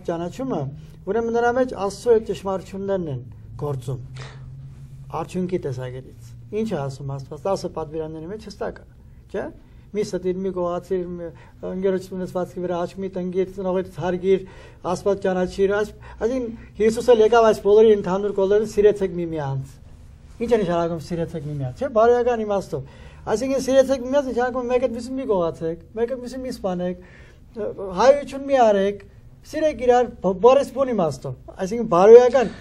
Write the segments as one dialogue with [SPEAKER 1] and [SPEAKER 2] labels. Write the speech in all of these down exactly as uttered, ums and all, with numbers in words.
[SPEAKER 1] ճանաչումը, ուրեմն նրա մեջ Աստծո այդ ճշմարտություններն են գործում։ Արդյունքի տեսակետից։ Ինչ է ասում Աստված, տասը պատվիրանների մեջ հստակ է, չէ՞։ Մի ստիր, մի գողացիր, ընկերություն ունեցվածքի վրա աչք մի տնգիր, ծնողից հարգիր, Աստված ճանաչիր, այսինքն Հիսուսը եկավ այս բոլորի ընդհանուր կոլորը սիրեցեք միմյանց։ Ինչ է նշանակում սիրեցեք միմյանց, չէ՞, բարոյական իմաստով։ Այսինքն սիրեցեք միմյանց նշանակում մեկը մյուսին մի գողացեք, մեկը մյուսին մի սպանեք, հայություն մի արեք, սիրեք իրար բարես բուն իմաստով։ Այսինքն բարոյական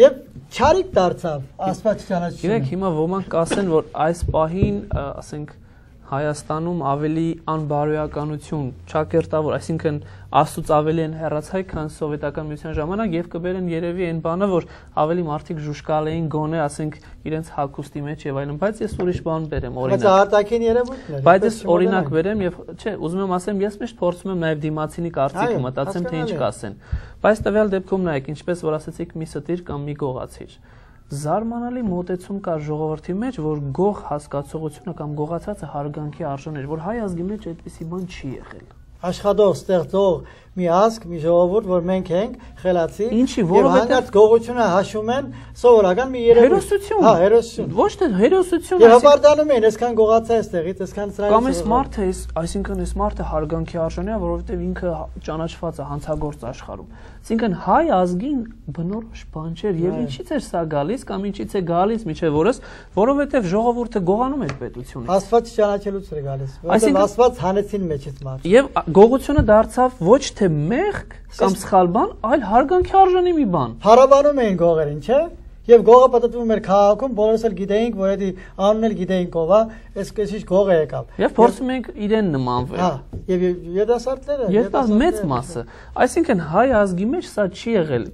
[SPEAKER 1] եւ չարիք դարձավ Աստված ճանաչությունը։
[SPEAKER 2] Գիտեք, հիմա ոմանք կասեն, որ այս պահին, ասենք, Հայաստանում ավելի անբարոյականություն, չակերտավոր, այսինքն Աստծուց ավելի են հեռացայ, քան սովետական միության ժամանակ եւ կբերեն երևի այն բանը, որ ավելի մարդիկ ժուշկալ էին գոնե, ասենք, իրենց հագուստի մեջ եւ այլն, բայց ես ուրիշ բան բերեմ, օրինակ։
[SPEAKER 1] Բայց արտաքին երևույթն է։
[SPEAKER 2] Բայց ես օրինակ բերեմ եւ չէ, ուզում եմ ասեմ, ես միշտ փորձում եմ նաեւ դիմացինի կարծիքը մտածեմ, թե ինչ կասեն։ Բայց տվյալ դեպքում նայեք, ինչպես որ ասացիք, մի ստիր կամ մի գողացիր։ Զարմանալի մոտեցում կա ժողովրդի մեջ, որ գող հասկացողությունը կամ գողացածը հարգանքի արժան էր, որ հայ ազգի մեջ այդպիսի բան չի եղել։
[SPEAKER 1] Աշխատող, ստեղծող մի ազգ, մի ժողովուրդ, որ մենք ենք խելացի,
[SPEAKER 2] Ինչի,
[SPEAKER 1] եւ հանկարծ գողությունը հաշվում են սովորական մի երևույթ։
[SPEAKER 2] Հերոսություն։
[SPEAKER 1] Հա, հերոսություն։
[SPEAKER 2] Ոչ թե հերոսություն,
[SPEAKER 1] Եվ հպարտանում են, այսքան գողացա այստեղից, այսքան սրանից։
[SPEAKER 2] Կամ այս մարդը, այսինքն այս մարդը հարգանքի արժանի է, որովհետեւ ինքը ճանաչված է հանցագործ աշխարհում։ Այսինքն հայ ազգին բնորոշ բան չէր, եւ ինչից էր սա գալիս կամ ինչից է գալիս միջև օրս, որովհետեւ ժողովուրդը գողանում էր պետությունից։
[SPEAKER 1] Աստված ճանաչելուց էր գալիս, որովհետեւ Աստված հանեցին մեջից մարդ։
[SPEAKER 2] Եվ գողությունը դարձավ ոչ թե մեղք կամ սխալ բան, այլ հարգանքի արժանի մի բան։
[SPEAKER 1] Փառաբանում էին գողերին, չէ՞։ Եվ գողը պատտվում էր քաղաքում, բոլորս էլ գիտեինք, որ դա անունն էլ գիտեինք ով է, այս քիչ գողը եկավ։
[SPEAKER 2] Եվ փորձում ենք իրեն նմանվել։
[SPEAKER 1] Հա, եւ երիտասարդները,
[SPEAKER 2] երիտասարդ մեծ մասը։ Այսինքն հայ ազգի մեջ սա չի եղել։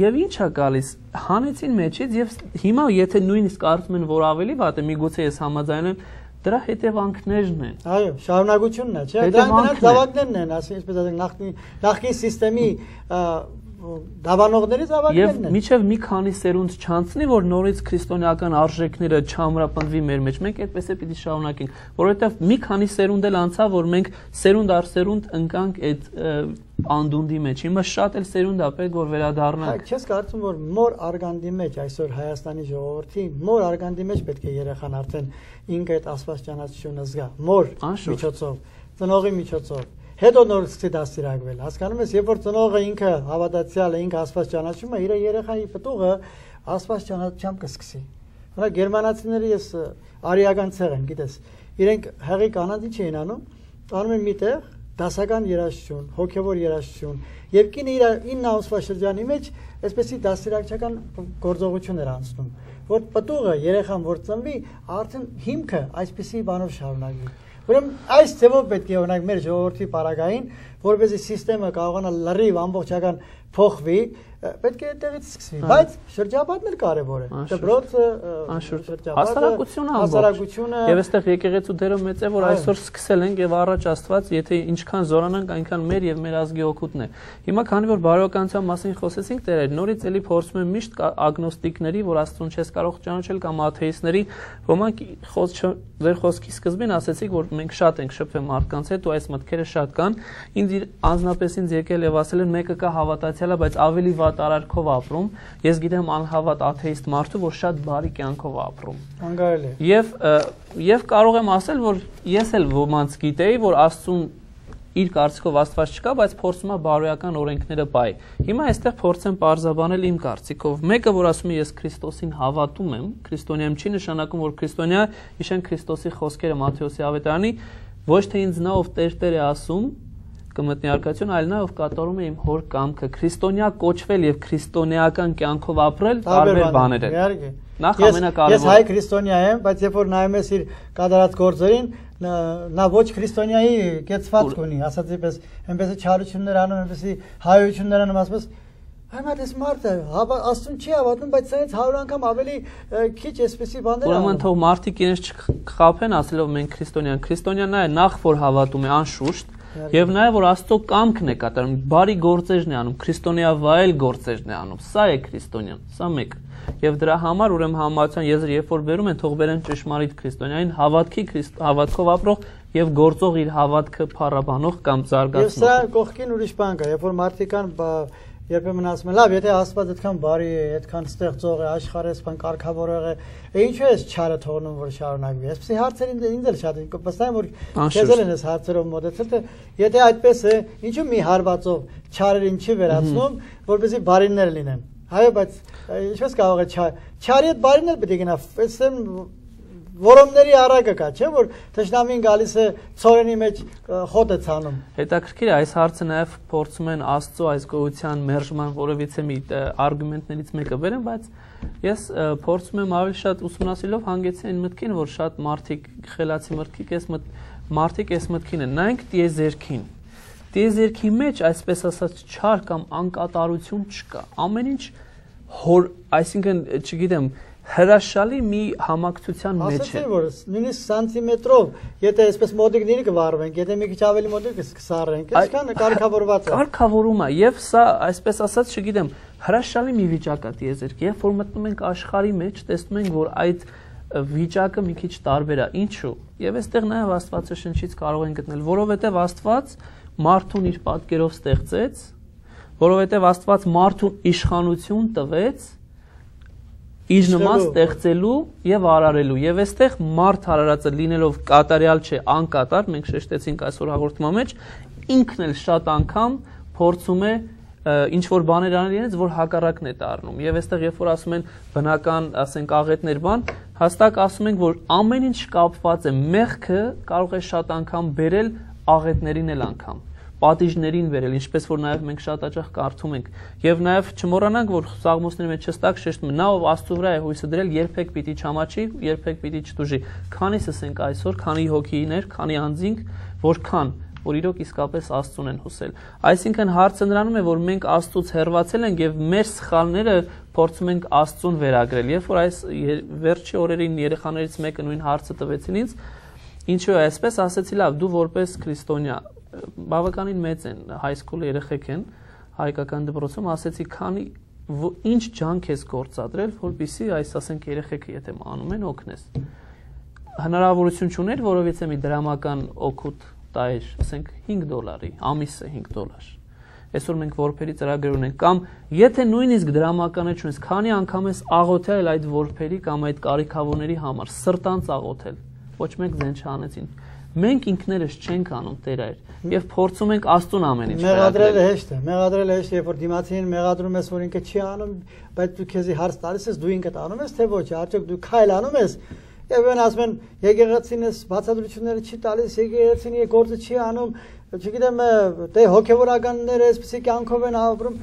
[SPEAKER 2] Եվ ինչ է գալիս, հանեցին մեջից եւ հիմա եթե նույնիսկ կարծում են, որ ավելի վատ է, միգուցե ես համաձայն եմ, դրա հետևանքներն են։
[SPEAKER 1] Այո, շարունակությունն է, չէ՞։ Դրանք զավակներն են, այսպես ասենք, նախկին նախկին համակարգի դավանողներից ավակներն են։
[SPEAKER 2] Եվ միջև մի քանի սերունդ չանցնի, որ նորից քրիստոնեական արժեքները չամրապնդվի մեր մեջ, մենք այդպես է պիտի շարունակենք, որովհետև մի քանի սերունդ էլ անցավ, որ մենք սերունդ առ սերունդ ընկանք այդ անդունդի մեջ։ Հիմա շատ էլ սերունդ է պետք որ վերադառնանք։
[SPEAKER 1] Չես կարծում, որ մոր արգանդի մեջ այսօր Հայաստանի ժողովրդի մոր արգանդի մեջ պետք է երեխան արդեն ինքը այդ Աստված ճանաչությունը զգա, մոր միջոցով, ծնողի միջոցով։ Հետո նոր սկսի դաստիարակվել։ Հասկանում ես, երբ որ ծնողը ինքը հավատացյալ է, ինքը Աստված ճանաչում է, իր երեխայի պտուղը Աստված ճանաչությամբ կսկսի։ Օրինակ գերմանացիները ես արիական ցեղ են, գիտես, իրենք հեղի կանանց ինչ էին անում, անում են միտեղ դասական երաժշտություն, հոգևոր երաժշտություն, եւ կինը իր ինը ամսվա շրջանի մեջ այսպեսի դաստիարակչական գործողություն էր անցնում, որ պտուղը երեխան որ ծնվի, արդեն հիմքը այսպեսի բանով շարունակվի։ Ուրեմն այս ձևով պետք է օրինակ մեր ժողովրդի պարագային, որպեսզի համակարգը կարողանա լրիվ ամբողջական փոխվի, պետք է այդտեղից սկսվի, բայց շրջապատն էլ կարևոր է։ Դպրոցը,
[SPEAKER 2] հասարակությունը, հասարակությունը եւ այստեղ եկեղեցու դերը մեծ է, որ այսօր սկսել ենք եւ առաջ Աստված, եթե ինչքան զորանանք, այնքան մեր եւ մեր ազգի օգուտն է։ Հիմա քանի որ բարոյականության մասին խոսեցինք, դերեր, նորից էլի փորձում եմ միշտ ագնոստիկների, որ Աստծուն չես կարող ճանաչել կամ աթեիստների, ոմանք ձեր խոսքի սկզբին ասեցիք, որ մենք շատ ենք շփվել մարդկանց հետ ու այս մտքերը շատ կան։ Ինձ անձնապես ինձ եկել եւ ասել են մեկը կա հավատացյալ է, բայց ավելի վատ արարքով ապրում։ Ես գիտեմ անհավատ աթեիստ մարդու, որ շատ բարի կյանքով ապրում։
[SPEAKER 1] Անկարելի։
[SPEAKER 2] Եվ եւ կարող եմ ասել, որ ես էլ ոմանց գիտեի, որ Աստծուն իր կարծիքով Աստված չկա, բայց փորձում է բարոյական օրենքները բայ։ Հիմա այստեղ փորձեմ պարզաբանել իմ կարծիքով։ Մեկը, որ ասում է ես Քրիստոսին հավատում եմ, քրիստոնյամ չի նշանակում, որ քրիստոնյա իշեն Քրիստոսի խոսքերը Մատթեոսի ավետարանի, ոչ թե ինձ նա ով Տեր-Տեր է ասում, կմտնի արկայություն, այլ նա ով կատարում է իմ հոր կամքը։ Քրիստոնյա կոչվել եւ քրիստոնեական կյանքով ապրել տարբեր բաներ են։ Նախ ամենակարևորը։
[SPEAKER 1] Ես հայ քրիստոնյա եմ, բայց երբ որ նայում ես իր կատարած գործերին, նա ոչ քրիստոնյայի կեցվածք ունի, ասած այնպես, այնպես չարություններ անում, այնպես հայություններ անում, ասես Այմա դες մարդը Աստծուն չի հավատում, բայց սրանից հարյուր անգամ ավելի քիչ էսպիսի բաներ անում։
[SPEAKER 2] Ուրեմն թող մարդիկ իրենց չխաբեն ասելով մենք քրիստոնյան, քրիստոնյան նա է նախ որ հավատում է անշուշտ եւ նաեւ որ Աստծո կամքն է կատարում, բարի գործերն է անում, քրիստոնեավայել գործերն է անում։ Սա է քրիստոնյան, սա մեկ։ Եվ դրա համար ուրեմն համացան եզր երբ որ բերում են, թող բերեն ճշմարիտ քրիստոնյային, հավատքի հավատքով ապրող եւ գործող իր հավատքը փառաբանող կամ զարգացնող։
[SPEAKER 1] Եվ սա կողքին ուրիշ բան կա, երբ որ մարդիկան երբեմն ասում են, լավ, եթե Աստված այդքան բարի է, այդքան ստեղծող է, աշխարհեսփան կարգավորող է, ինչու է չարը թողնում որ շարունակվի։ Այսպեսի հարցեր ինձ էլ շատ են, վստահ եմ որ քեզ էլ են այս հարցերով մոտեցել, թե եթե այդպես է, ինչու մի հարվածով չարերին չի վերացնում, որպեսզի բարիներ լինեն։ Հայո, բայց ինչպես կարող է չարի հետ բարին էլ պետք է գնա, այսեմ որոմների առակը կա, չէ՞ որ թշնամին գալիս է ծորենի մեջ խոտ է ցանում։
[SPEAKER 2] Հետաքրքիր է, այս հարցը նաև փորձում են Աստծո այս գոյության մերժման որևիցե մի արգումենտներից մեկը բերեն, բայց ես փորձում եմ ավելի շատ ուսումնասիրելով հանգեցի այն մտքին, որ շատ մարդիկ խելացի մարդիկ էս մարդիկ էս մտքին են, նայենք տիեզերքին։ Տիեզերքի մեջ, այսպես ասած, չար կամ անկատարություն չկա։ Ամեն ինչ հոր, այսինքն, չգիտեմ, հրաշալի մի համակցության մեջ է։
[SPEAKER 1] Ասացի որ նույնիսկ սանտիմետրով, եթե այսպես մոդիկների կվարվենք, եթե մի քիչ ավելի մոդիկ կսարենք, այսքան կարգավորված է։
[SPEAKER 2] Կարգավորում է, եւ սա այսպես ասած, չգիտեմ, հրաշալի մի վիճակ է տիեզերքի, երբ որ մտնում ենք աշխարհի մեջ, տեսնում ենք, որ այդ վիճակը մի քիչ տարբեր է։ Ինչու՞։ Եվ այստեղ նաեւ Աստվածաշնչից կարող ենք գտնել, որովհետեւ Աստված մարդուն իր պատկերով ստեղծեց, որովհետև Աստված մարդուն իշխանություն տվեց իր նման ստեղծելու եւ արարելու եւ այստեղ մարդ հարարածը լինելով կատարյալ չէ, անկատար, մենք շեշտեցինք այսօր հաղորդման մեջ, ինքն էլ շատ անգամ փորձում է ինչ որ բաներ անել իրենց, որ հակառակն է դառնում։ Եվ այստեղ երբ որ ասում են բնական, ասենք աղետներ բան, հաստատ ասում ենք, որ ամեն ինչ կապված է, մեղքը կարող է շատ անգամ բերել աղետներին էլ անգամ, պատիժներին վերել, ինչպես որ նաև մենք շատ հաճախ կարդում ենք։ Եվ նաև չմոռանանք, որ Սաղմոսների մեջ հստակ շեշտում է, նա ով Աստծո վրա է հույսը դրել, երբեք պիտի չամաչի, երբեք պիտի չտուժի։ Քանիսս ենք այսօր, քանի հոգիներ, քանի անձինք, որքան որ իրոք իսկապես Աստծուն են հուսել։ Այսինքն հարցը նրանում է, որ մենք Աստծուց հեռացել ենք եւ մեր սխալները փորձում ենք Աստծուն վերագրել։ Երբ որ այս վերջի օրերին երեխաներից մեկը նույն հարցը տվեցին ինձ, ինչու է այսպես, ասեցի լավ, դու որպես քրիստոնյա բավականին մեծ են, հայսկուլ երեխեք են, հայկական դպրոցում, ասեցի, քանի ինչ ջանք ես գործադրել, որպեսզի այս ասենք երեխեքը եթե անում են օգնես։ Հնարավորություն չուներ, որովհետեւ մի դրամական օգուտ տայր, ասենք հինգ դոլարի, ամիսը հինգ դոլար։ Այսօր մենք որբերի ծրագրեր ունենք, կամ եթե նույնիսկ դրամականը չունես, քանի անգամ ես աղոթել այդ որբերի կամ այդ կարիքավորների համար, սրտանց աղոթել, ոչ մեկ ձեն չանեցին։ Մենք ինքներս չենք անում Տեր այր եւ փորձում ենք Աստծուն ամեն ինչ
[SPEAKER 1] մեղադրելը հեշտ է, մեղադրելը հեշտ է, երբ որ դիմացին մեղադրում ես, որ ինքը չի անում, բայց դու քեզի հարց տալիս ես, դու ինքդ անում ես, թե ոչ, արդյոք դու քայլ անում ես, եւ այն ասում են եկեղեցին ես բացատրությունները չի տալիս, եկեղեցին է գործը չի անում, չգիտեմ, դե հոգեվորականները այսպեսի կյանքով են ապրում,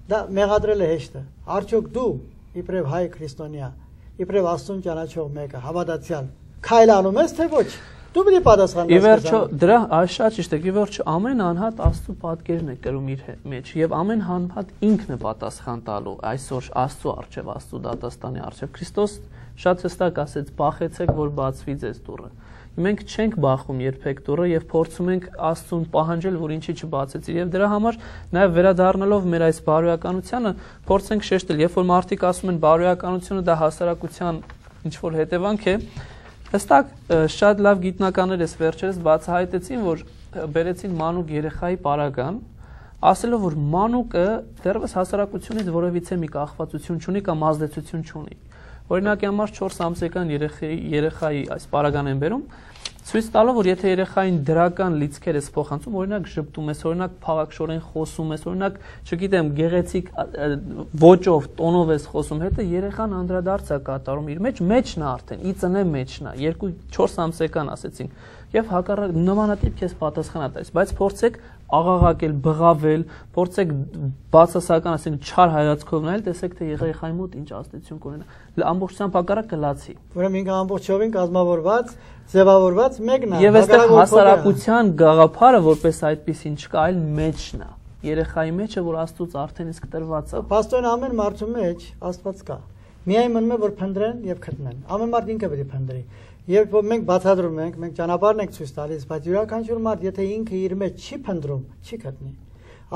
[SPEAKER 1] դա մեղադրելը հեշտ է։ Արդյոք դու իբրև հայ քրիստոնյա, իբրև Աստծուն ճանաչող մեկը, հավատացյալ, քայլ անում ես, թե ոչ։ Դու պիտի պատասխանես։
[SPEAKER 2] Ի վերջո դրա շատ ճիշտ է, ի վերջո ամեն անհատ Աստծո պատկերն է կրում իր մեջ եւ ամեն անհատ ինքն է պատասխան տալու այսօր Աստծո արչեւ, Աստծո դատաստանի արչեւ։ Քրիստոս շատ հստակ ասեց. «Բախեցեք, որ բացվի ձեզ դուռը»։ Մենք չենք բախում երբեք դուռը եւ փորձում ենք Աստծուն պահանջել, որ ինչի չբացեցի։ Եվ դրա համար նաեւ վերադառնալով մեր այս բարոյականությանը, փորձենք շեշտել, երբ որ մարդիկ ասում են բարոյականությունը դա հասարակության ինչ որ հետևանք է, հստակ շատ լավ գիտնականներ էս վերջերս բացահայտեցին, որ բերեցին մանուկ երեխայի պարագան, ասելով, որ մանուկը դեռևս հասարակությունից որևիցե մի կախվածություն չունի կամ ազդեցություն չունի։ Օրինակի համար չորս ամսական երեխայի երեխայի այս պարագան են բերում, ցույց տալով, որ եթե երեխային դրական լիցքեր ես փոխանցում, օրինակ ժպտում ես, օրինակ փաղաքշորեն խոսում ես, օրինակ, չգիտեմ, գեղեցիկ ոճով, տոնով ես խոսում, հետո երեխան անդրադարձ է կատարում իր մեջ, մեջն է արդեն, ի ծնե մեջն է, երկու չորս ամսական ասեցինք, եւ հակառակ նմանատիպ քեզ պատասխան է տալիս, բայց փորձեք աղաղակել, բղավել, փորձեք բացասական, ասենք, չար հայացքով նայել, տեսեք թե երեխայի մոտ ինչ ազդեցություն կունենա։ Ամբողջությամբ հակառակ կլացի։
[SPEAKER 1] Ուրեմն ինքը ամբողջովին կազմավորված, ձևավորված մեկն է։
[SPEAKER 2] Եվ այստեղ հասարակության գաղափարը որպես այդպեսին չկա, այլ մեջն է։ Երեխայի մեջը, որ Աստծուց արդեն իսկ տրված է։
[SPEAKER 1] Պաստորն ամեն մարդու մեջ Աստված կա։ Միայն մնում է որ փնտրեն եւ գտնեն։ Ամեն մարդ ինքը պետք է փնտրի։ Երբ որ մենք բացատրում ենք, մենք ճանապարհն ենք ցույց տալիս, բայց յուրաքանչյուր մարդ, եթե ինքը իր մեջ չի փնտրում, չի գտնի։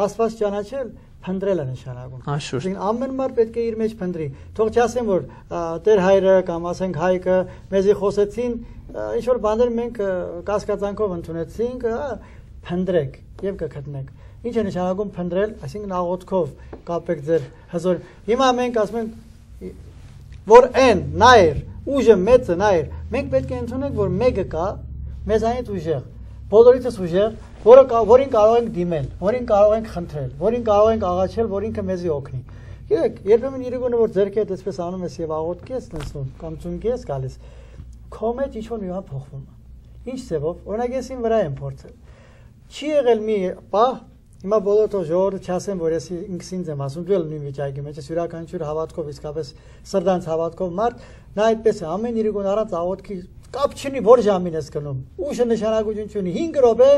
[SPEAKER 1] Աստված ճանաչել, փնտրել է նշանակում։
[SPEAKER 2] Անշուշտ։
[SPEAKER 1] Ամեն մարդ պետք է իր մեջ փնտրի։ Թող չասեն, որ Տեր հայրը կամ ասենք հայկը մեզի խոսեցին, ինչ որ բաներ մենք կասկածանքով ընդունեցինք, փնդրեք եւ կգտնեք։ Ինչ է նշանակում փնդրել, այսինքն աղոթքով կապեք ձեր հզոր։ Հիմա մենք ասում ենք, որ այն նայր, ուժը մեծը նայր, մենք պետք է ընդունենք, որ մեկը կա, մեզանից ուժեղ, բոլորիցս ուժեղ, որը որին կարող ենք դիմել, որին կարող ենք խնդրել, որին կարող ենք աղաչել, որ ինքը մեզի օգնի։ Գիտեք, երբեմն իրիկունը որ ձերքի հետ այսպես անում ես եւ աղոթքի ես տենցնում, կամ ծունկի ես գալիս, քո մեջ ինչ որ մի բան փոխվում է։ Ինչ ձևով, օրինակ ես ին վրա եմ փորձել։ Չի եղել մի պահ, հիմա բոլոր թող ժողովուրդը չասեն, որ ես ինքս ինձ եմ ասում, դու էլ նույն վիճակի մեջ ես, յուրաքանչյուր հավատքով իսկապես սրտանց հավատքով մարդ, նա այդպես է, ամեն իրիկուն առանց աղոթքի կապ չունի, որ ժամին ես գնում։ Ուժը նշանակություն չունի, հինգ րոպե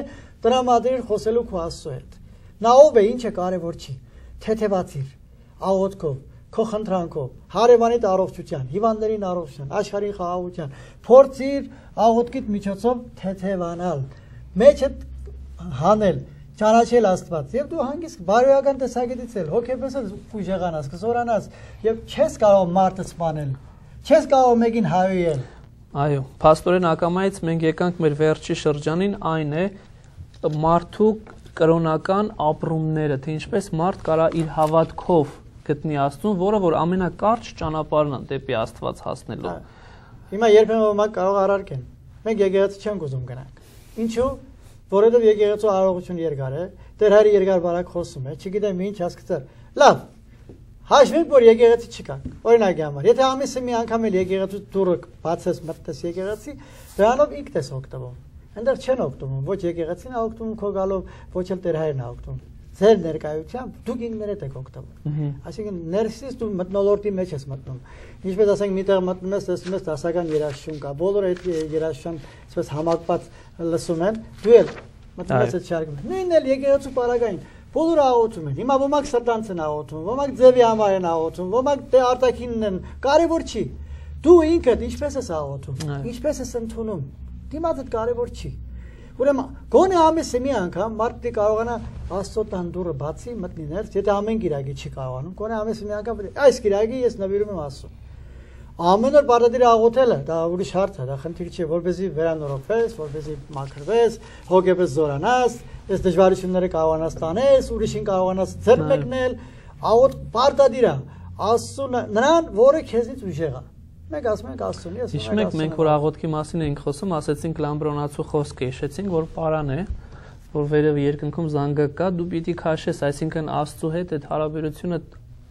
[SPEAKER 1] տրամադրիր խոսելու քո Աստծո հետ։ Նա ով է, ինչը կարևոր չի։ Թեթևացիր աղոթքով, քո խնդրանքով, հարևանիդ առողջության, հիվանդներին առողջության, աշխարհի խաղաղության, փորձիր աղոթքիդ միջոցով թեթևանալ, մեջը հանել, ճանաչել Աստված, եւ դու հանգիստ բարոյական տեսակետից էլ հոգեպես ուժեղանաս, կզորանաս եւ չես կարող մարդը սպանել, չես կարող մեկին հայոյել։
[SPEAKER 2] Այո, փաստորեն ակամայից մենք եկանք մեր վերջի շրջանին, այն է մարդու կրոնական ապրումները, թե ինչպես մարդ կարա իր հավատքով գտնի Աստծուն, որը որ ամենակարճ ճանապարհն է դեպի Աստված հասնելու։
[SPEAKER 1] Հիմա երբեմն ոմանք կարող առարկեն։ Մենք եկեղեցի չենք ուզում գնանք։ Ինչու՞։ Որովհետև եկեղեցու արարողություն երկար է, Տեր Հայրը երկար բարակ խոսում է, չգիտեմ ինչ հասկացա։ Լավ։ Հաշվենք, որ եկեղեցի չկա։ Օրինակի համար, եթե ամիսը մի անգամ էլ եկեղեցու դուռը բացես մտնես եկեղեցի, դրանով ինքդ ես օգտվում։ Այնտեղ չեն օգտվում, ոչ եկեղեցին է օգտվում քո գալով, ոչ էլ Տեր Հայրն է օգտվում։ Ձեր ներկայությամբ դուք ինքներդ եք օգտվում։ Այսինքն ներսից դու մթնոլորտի մեջ ես մտնում։ Ինչպես ասենք, միտեղ մտնում ես, տեսնում ես դասական երաշխություն կա, բոլորը այդ երաշխության այսպես համակված լսում են, դու էլ մտնում ես այդ շարքում։ Նույնն էլ եկեղեցու պարագային, բոլորը աղոթում են։ Հիմա ոմանք սրտանց են աղոթում, ոմանք ձևի համար են աղոթում, ոմանք դե արտաքինն են, կարևոր չի։ Դու ինքդ ինչպես ես աղոթում, ինչպես ես ընդունում, դիմացդ կարևոր չի։ Ուրեմն գոնե ամիսը մի անգամ մարդը կարողանա Աստծո տան դուռը բացի մտնի ներս, եթե ամեն գիրակի չի կարողանում, գոնե ամիսը մի անգամ այս գիրակի ես նվիրում եմ Աստծուն։ Ամեն օր բարդատիր աղոթելը, դա ուրիշ հարց է, դա խնդիր չի, որպեսզի վերանորոգվես, որպեսզի մաքրվես, հոգեպես զորանաս, այս դժվարությունները կարողանաս տանես, ուրիշին կարողանաս ձեռք մեկնել, աղոթ բարդատիր է, Աստծուն նրան, որը քեզից ուժեղ է։ Մենք ասում ենք Աստծուն, ես
[SPEAKER 2] հիշում եք մենք որ աղոթքի մասին էինք խոսում, ասեցինք լամբրոնացու խոսքը, հիշեցինք, որ պարան է, որ վերև երկնքում զանգը կա, դու պիտի քաշես, այսինքն Աստծու հետ այդ հարաբերությունը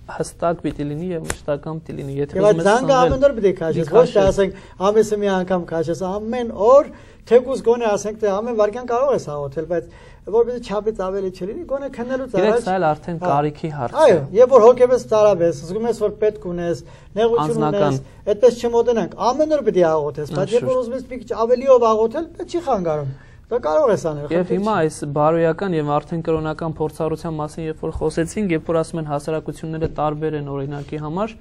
[SPEAKER 2] հստակ պիտի լինի եւ մշտական պիտի լինի։ Եթե
[SPEAKER 1] ուզում ես զանգը ամեն օր պիտի քաշես, ոչ թե ասենք ամիսը մի անգամ քաշես, ամեն օր, թեկուզ գոնե ասենք թե ամեն վարքյան կարող ես աղոթել, բայց որովհետեւ չափից ավելի չլինի, գոնե քննելուց առաջ։
[SPEAKER 2] Իրեք սա էլ արդեն կարիքի հարց է։
[SPEAKER 1] Այո, երբ որ հոգեպես ծարավ ես, զգում ես որ պետք ունես, նեղություն ունես, այդպես չմոտենանք, ամեն օր պիտի աղոթես, բայց երբ որ ուզում ես մի քիչ ավելիով աղոթել, դա չի խանգարում։ Դա կարող ես անել։
[SPEAKER 2] Եվ հիմա այս բարոյական եւ արդեն կրոնական փորձառության մասին երբ որ խոսեցինք, երբ որ ասում են հասարակությունները տարբեր են օրինակի համար,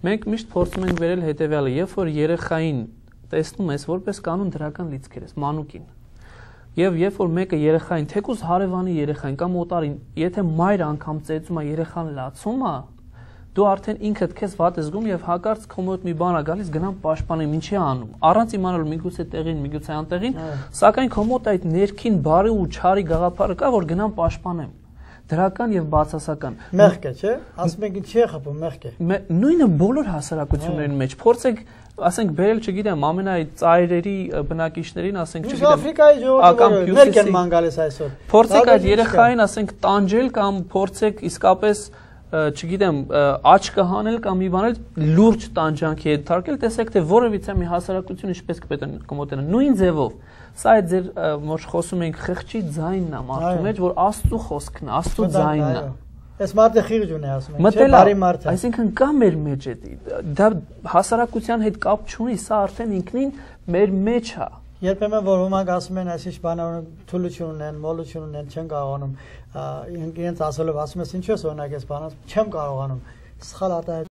[SPEAKER 2] մենք միշտ փորձում ենք վերել հետեւյալը, երբ որ երեխային տեսնում ես որպես կանոն դրական լիցքեր ես, մանուկին։ Եվ երբ որ մեկը երեխային, թեկուզ հարևանի երեխային կամ օտարին, եթե մայրը անգամ ծեծում է, երեխան լացում է, դու արդեն ինքդ քեզ վատ ես զգում եւ հակառակ քո մոտ մի բան է գալիս գնամ պաշտպանեմ, ինչի անում։ Առանց իմանալու միգուցե տեղին, միգուցե անտեղին, սակայն քո մոտ այդ ներքին բարի ու չարի գաղափարը կա, որ գնամ պաշտպանեմ։ Դրական եւ բացասական։
[SPEAKER 1] Մեղք է, չէ՞։ Ասում ենք ինչի է խփում, մեղք է։
[SPEAKER 2] Նույնը բոլոր հասարակությունների մեջ փորձեք, ասենք, բերել, չգիտեմ, ամենայ ծայրերի բնակիչներին, ասենք, չգիտեմ,
[SPEAKER 1] Աֆրիկայի ժողովուրդը ներք են ման գալիս այսօր։
[SPEAKER 2] Փորձեք այդ երեխային, ասենք, տանջել կամ փորձեք իսկապես չգիտեմ, աչքը հանել կամ մի բանել լուրջ տանջանքի հետ թարգել, տեսեք թե որևիցե մի հասարակություն ինչպես կմոտենա, նույն ձևով։ Սա է ձեր որ խոսում ենք խղճի ձայնն է մարդու մեջ, որ Աստծո խոսքն է, Աստծո ձայնն է։
[SPEAKER 1] Այս մարդը խիղճ ունի ասում են, չէ՞, բարի մարդ է։
[SPEAKER 2] Այսինքն կա մեր մեջ է, դա հասարակության հետ կապ չունի, սա արդեն ինքնին մեր մեջ է։
[SPEAKER 1] Երբեմն որ ոմանք ասում են այսիշ բանավորը թուլություն ունեն, մոլություն ունեն, չեն կարողանում իրենց ասելով ասում ես ինչու ես օրինակ ես բանած չեմ կարողանում սխալ արտահայտ